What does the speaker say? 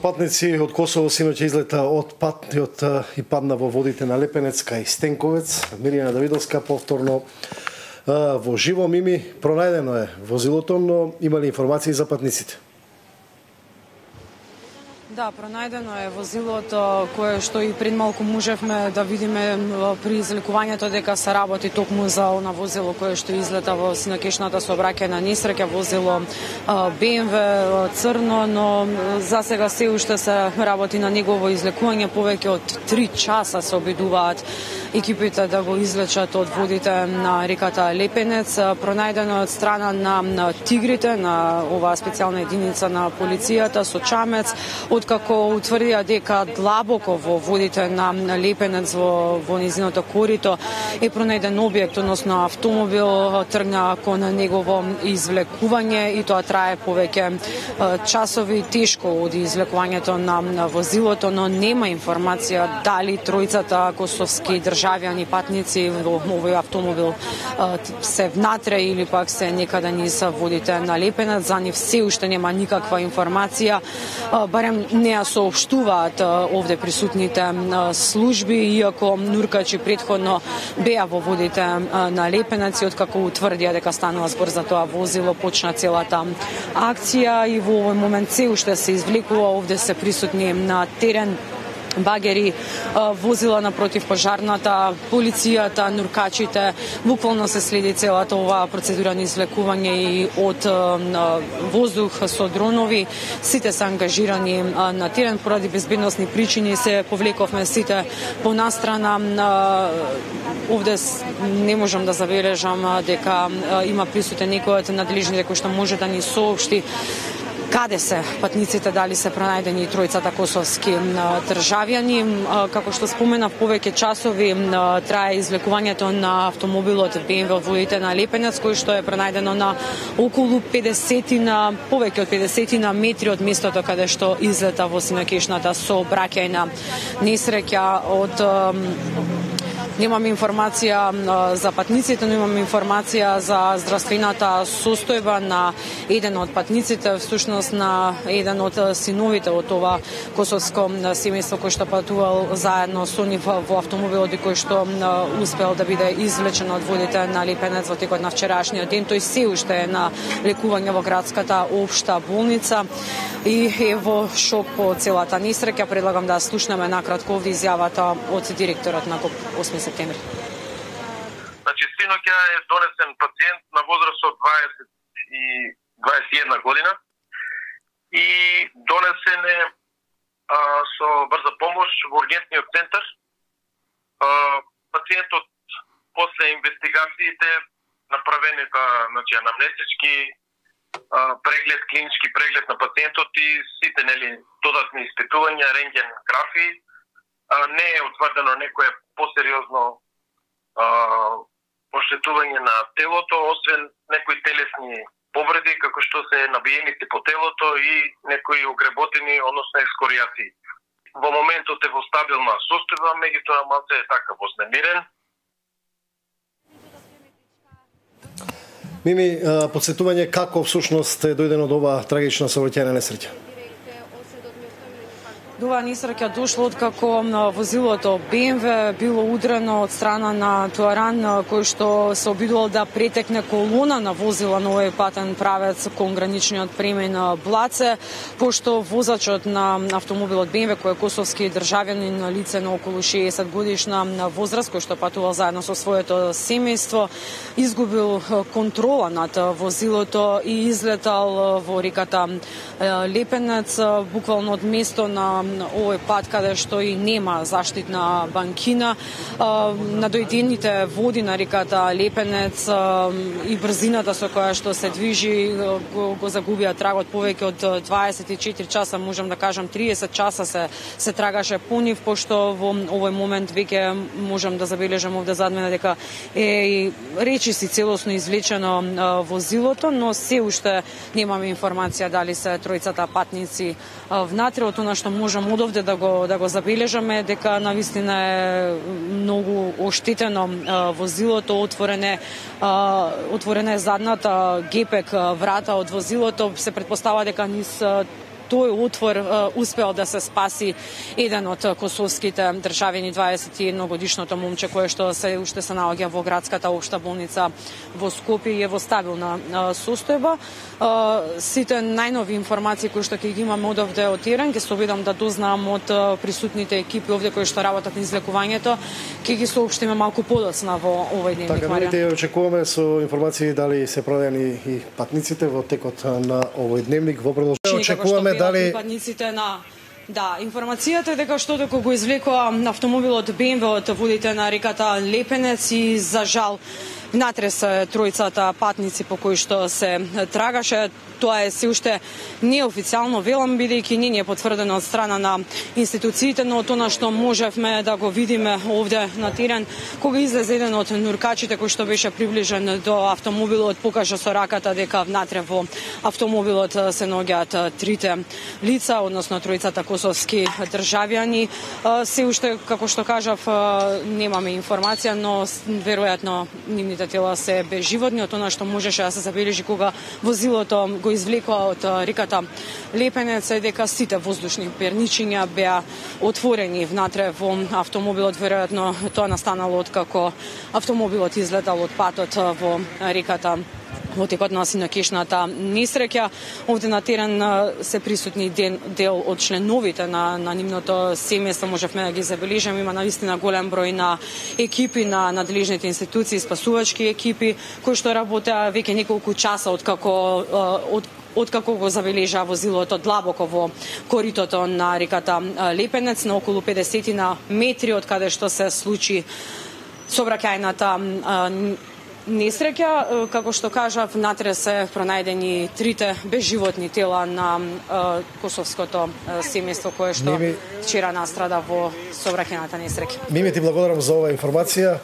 Патници од Косово синоќа излета од патниот и падна во водите на Лепенец кај Стенковец. Мирјана Давидовска повторно во живо. Мими, пронајдено е возилото, но има ли информации за патниците? Да, пронајдено е возилото кое што и пред малку можевме да видиме при излекувањето дека се работи токму за она возило кое што излета во синокешната сообраќајна несреќа, возило BMW црно, но за сега се уште се работи на негово излекување. Повеќе од 3 часа се обидуваат екипите да го излечат од водите на реката Лепенец. Пронајдено од страна на тигрите, на оваа специјална единица на полицијата со чамец, откако утврдија дека длабоко во водите на Лепенец во низиното корито е пронајден објект, односно автомобил, тргна кон негово извлекување и тоа трае повеќе часови. Тешко оди извлекувањето на возилото, но нема информација дали тројцата косовски државјани патници во овој автомобил се внатре или пак се некаде низ водите на Лепенец. За нив се уште нема никаква информација, барем не ја соопштуваат овде присутните служби, иако нуркачи претходно беа во водите на Лепенец и откако утврдија дека станува збор за тоа возило, почна целата акција и во овој момент се уште се извлекува. Овде се присутни на терен багери, возила на противпожарната, полицијата, нуркачите. Буквално се следи целата оваа процедура на извлекување и од воздух со дронови. Сите се ангажирани на терен поради безбедносни причини. Се повлековме сите по настрана. Овде не можам да забележам дека има присутен некој од надлежните кој што може да ни соопшти каде се патниците, дали се пронајдени тројцата косовски државјани. Како што споменав, повеќе часови трае извлекувањето на автомобилот BMW од водите на Лепенец, кој што е пронајдено на околу 50 повеќе од 50 метри од местото каде што излета во синокешната сообраќајна несреќа. Немам информација за патниците, но имам информација за здравствената состојба на еден од патниците, всушност на еден од синовите од ова косовско семејство кој што патувал заедно со нив во автомобилот и кој што успел да биде извлечен од водите на Лепенец во текот на вчерашниот ден. Тој се уште е на лекување во градската општа болница и е во шок по целата несреќа. Предлагам да слушнеме накратко овде изјавата од директорот на КОП 8 септември. Значи, синоќа е донесен пациент на возраст од 20 и 21 година и донесен е со брза помош во ургентниот центар. Пациентот после инвестигациите направените, значи, анамнестички преглед, клинички преглед на пациентот и сите додатни испитувања, рентгенографии, не е утврдено некое посериозно оштетување на телото, освен некои телесни повреди, како што се набиеници по телото и некои огреботини, односно екскоријации. Во моментот е во стабилна состојба, меѓутоа малце е така вознемирен. Мими, подсетување како всушност е дојдено до оваа трагична сообраќајна несреќа? Ова несреќа дошло откако возилото BMW било удрено од страна на тоаран кој што се обидувал да претекне колона на возила на овој патен правец кон граничниот премен Блаце, пошто возачот на автомобилот BMW, кој е косовски државјанин, лице на околу 60 годишна возраст, кој што патувал заедно со своето семејство, изгубил контрола над возилото и излетал во реката Лепенец, буквално од место на овој пат каде што и нема заштитна банкина. На дојдените води на реката Лепенец и брзината со која што се движи го загубија трагот. Повеќе од 24 часа, можам да кажам 30 часа се трагаше по нив, пошто во овој момент веќе можам да забележам овде зад мене дека е речиси целосно извлечено возилото, но се уште немаме информација дали се тројцата патници внатре. Од она што можам од овде да го забележаме дека навистина е многу оштетено возилото, отворена е задната гепек врата од возилото. Се претпостава дека низ тој отвор успеал да се спаси еден од косовските државјани, 21 годишното момче кое што уште се наоѓа во градската општа болница во Скопје и е во стабилна состојба. Сите најнови информации кои што ќе ги имаме одовде од терен, ќе се обидам да дознаам од присутните екипи овде кои што работат на излекувањето, ќе ги соопштиме малку подоцна во овој дневник. Така, ние очекуваме со информации дали се проверени и патниците во текот на овој дневник. Во продолжение очекуваме дали патниците на информацијата е дека што дека го извлекоа автомобилот BMW од водите на реката Лепенец и за жал внатре се тројцата патници по кои што се трагаше. Тоа е се уште неофицијално, велам, бидејќи не е потврдено од страна на институциите, но тоа што можевме да го видиме овде на терен, кога излезе еден од нуркачите кој што беше приближен до автомобилот, покажа со раката дека внатре во автомобилот се наоѓаат трите лица, односно тројцата косовски државјани. Се уште, како што кажав, немаме информација, но веројатно нивните тела се безживотни. Од тоа што можеше да се забележи кога возилото го извлекоа од реката Лепенец е дека сите воздушни перничиња беа отворени внатре во автомобилот. Веројатно тоа настанало откако автомобилот излетал од патот во реката во текот на синокишната несреќа. Овде на терен се присутни дел од членовите на нивното семејство, можевме да ги забележиме. Има навистина голем број на екипи на надлежните институции, спасувачки екипи кои што работеа веќе неколку часа откако го забележа возилото длабоко во коритото на реката Лепенец, на околу 50 метри од каде што се случи сообраќајната несреќа. Како што кажав, внатре се пронајдени трите безживотни тела на косовското семејство кое што вчера настрада во сообраќајната несреќа. Мими, ти благодарам за оваа информација.